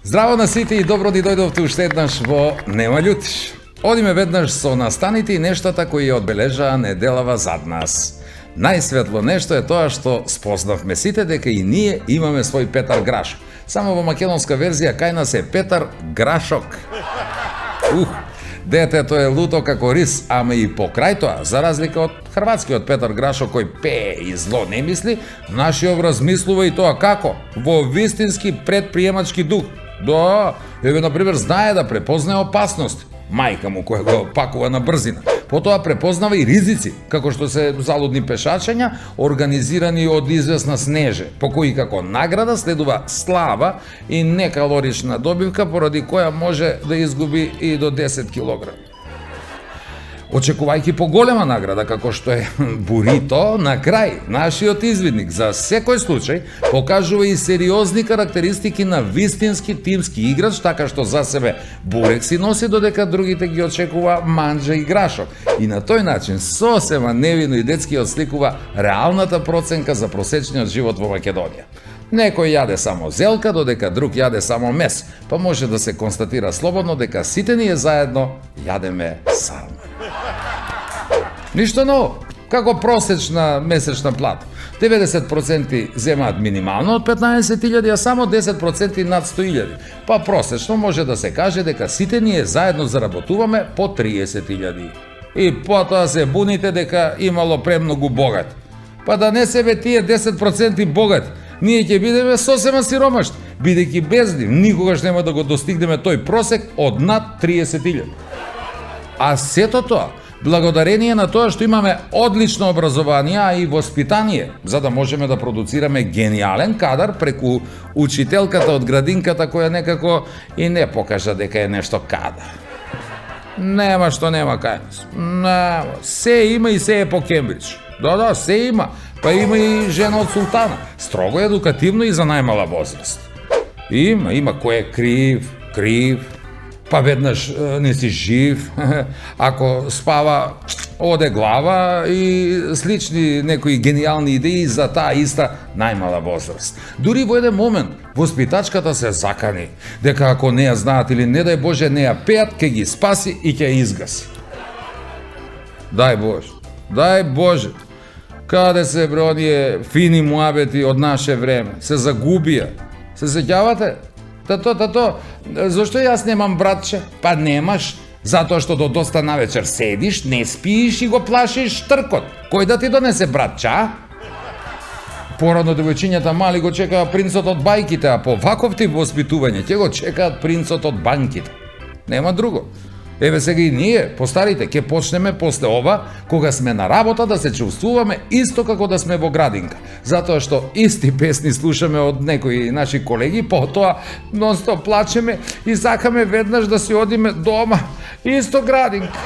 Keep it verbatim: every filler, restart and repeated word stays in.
Здраво на сите и добро ди дојдовте уште еднаш во Нема љутиш. Одиме веднаш со настаните и нештата кои ја одбележаа неделава зад нас. Најсветло нешто е тоа што спознавме сите дека и ние имаме свој Петар Грашок. Само во македонска верзија кај нас е Петар Грашок. Ух, детето е луто како рис, ама и покрај тоа, за разлика од хрватскиот Петар Грашок кој пее и зло не мисли, нашиот размислува и тоа како? Во вистински предприемачки дух. Да, еве например знае да препознае опасности. Мајка му која го пакува на брзина. Потоа препознава и ризици, како што се залудни пешачења, организирани од известна снеже, по кои како награда следува слава и некалорична добивка, поради која може да изгуби и до десет килограми. Очекувајќи поголема награда, како што е бурито, на крај, нашиот извидник за секој случај покажува и сериозни карактеристики на вистински тимски играч, така што за себе бурек си носи, додека другите ги очекува манџа и грашок. И на тој начин сосема невино и детски отсликува реалната проценка за просечниот живот во Македонија. Некој јаде само зелка, додека друг јаде само мес, па може да се констатира слободно дека сите ние заедно јадеме сарма. Ништо ново, како просечна месечна плата. деветдесет проценти земаат минимално од петнаесет илјади, а само десет проценти над сто илјади. Па просечно може да се каже дека сите ние заедно заработуваме по триесет илјади. И потоа се буните дека имало премногу богат. Па да не себе тие десет проценти богат, ние ќе бидеме сосема сиромашни, бидејќи без нив никогаш нема да го достигнеме тој просек од над триесет илјади. А сето тоа благодарение на тоа што имаме одлично образование, а и воспитание, за да можеме да продуцираме гениален кадар преку учителката од градинката која некако и не покажа дека е нешто кадар. Нема што нема кај нас. Нема. Се има и се е по Кембридж. Да, да, се има. Па има и жена од султана. Строго едукативно и за најмала возраст. Има, има кој е крив, крив. Па веднаш не си жив, ако спава оде глава и слични некои гениални идеи за таа иста најмала возраст. Дури во еден момент воспитачката се закани дека ако не ја знаат или не дај Боже не ја пеат, ќе ги спаси и ќе ја изгаси. Дај Боже, дај Боже. Каде се бре оние фини муабети од наше време? Се загубија. Се сеќавате? Тато, тато, зашто јас немам братче? Па немаш, затоа што до доста навечер седиш, не спииш и го плашиш тркот. Кој да ти донесе братче, а? Порано девојчињата мали го чекаа принцот од бајките, а по ваков тип воспитување ќе го чекаат принцот од банките. Нема друго. Еве сега и ние, постарите, ќе почнеме после ова, кога сме на работа, да се чувствуваме исто како да сме во градинка. Затоа што исти песни слушаме од некои наши колеги, потоа нонстоп плачеме и сакаме веднаш да си одиме дома, исто градинка.